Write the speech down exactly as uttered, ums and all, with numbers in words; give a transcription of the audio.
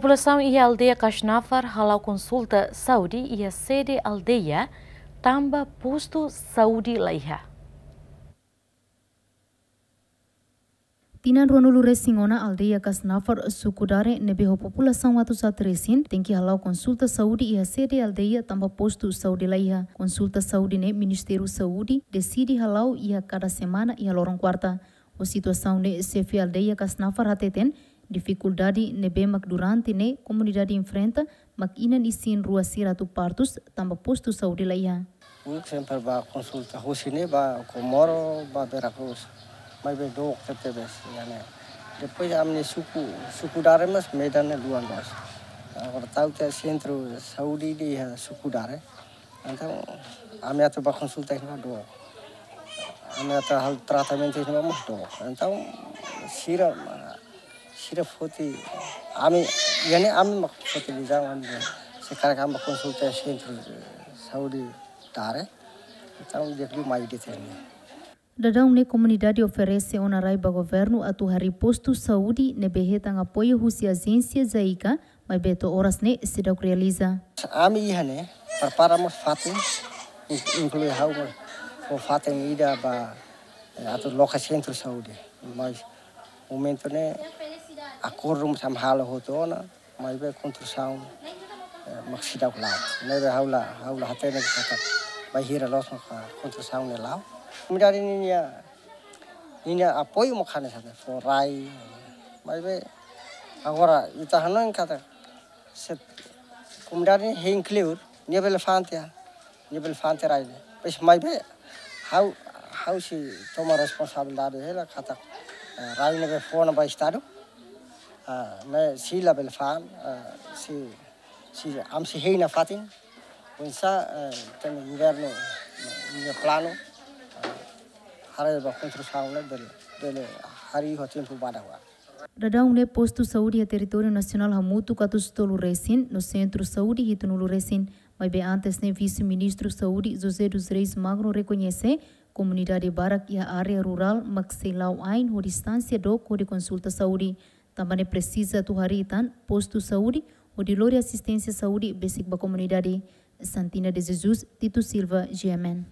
Populasaun iha aldeia Kasnafar hala'o konsulta saúde iha sede aldeia, tanba postu saúde laiha. Tinan ruanulu resin ona, aldeia Kasnafar, suku Dare, ne'ebé ho populasaun atus haat resin, tenke hala'o konsulta saúde iha sede aldeia tanba postu saúde laiha. Konsulta saúde ne'e Ministériu Saúde deside hala'o iha kada semana iha loron kuarta. Ho situasaun ne'e, xefe aldeia Kasnafar hateten, difikuldade ne'ebé mak durante ne'e komunidade enfrenta, mak inan-isin rua sira atu partus tanba postu saúde laiha. Uluk sempre bá konsulta husi ne'e bá Comoro, bá Vera Cruz. Maibé dook tebes, ya ne'e. Depois ami-nia suku, suku Dare mós medan ne'e luan loos. Agora tau tiha sentru saúde iha suku Dare. Entaun, ami atu bá konsulta iha ne'ebá dook. Ami atu halo tratamentu iha ne'ebá mós dook. Entaun, sira, sira foti, ami, ya ne'e ami mak foti lijaun ami. Se karik ami bá konsulta sentru saúde Dare. Entaun, di'ak liu mai de'it iha ne'e. Daudaun ne'e komunidade oferese ona rai ba governu atu harii postu saúde ne'ebé hetan apoiu husi ajénsia JICA, maibé to'o oras ne'e seidauk realiza. Ami iha ne'e prepara mós fatin, in-, inklui ha'u mós, fó fatin ida ba, eh, atu loke sentru saúde. Mas momentu ne'e akordu mós ami halo hotu ona, maibé konstrusaun, eh, mak seidauk la'o. Ne'ebé ha'u la, ha'u la hatene katak bainhira loos maka konstrusaun ne'e la'o. Komunidade ninia, ninia apoiu mak hanesan ne'e, fó rai. Maibé agora ita hanoin katak se komunidade ne'e hein kleur, nia bele fa'an tiha, nia bele fa'an tiha rai ne'e. Pois maibé ha'u, ha'u sei toma responsabilidade hela katak, eh, rai ne'ebé fó ona ba Estadu. Ah, ne'e sei la bele fa'an, ah, sei, sei, ami sei hein nafatin. Oinsá, eh, ita-nia governu, eh, nia planu, eh, haree ba konstrusaun ne'e bele, bele harii ho tempu badak ba. Daudaun ne'e postu saúde iha territóriu nasionál hamutuk atus tolu resin, no sentru saúde hitunulu resin. Maibé antes ne'e Vise-Ministru Saúde José dos Reis Magno rekoñese, komunidade barak iha área rurál mak sei la'o ain ho distánsia dook hodi konsulta saúde. Tanba ne'e presiza atu harii tan postu saúde hodi lori asisténsia saúde besik ba komunidade. Santina de Jesus, Tito Silva, G M N.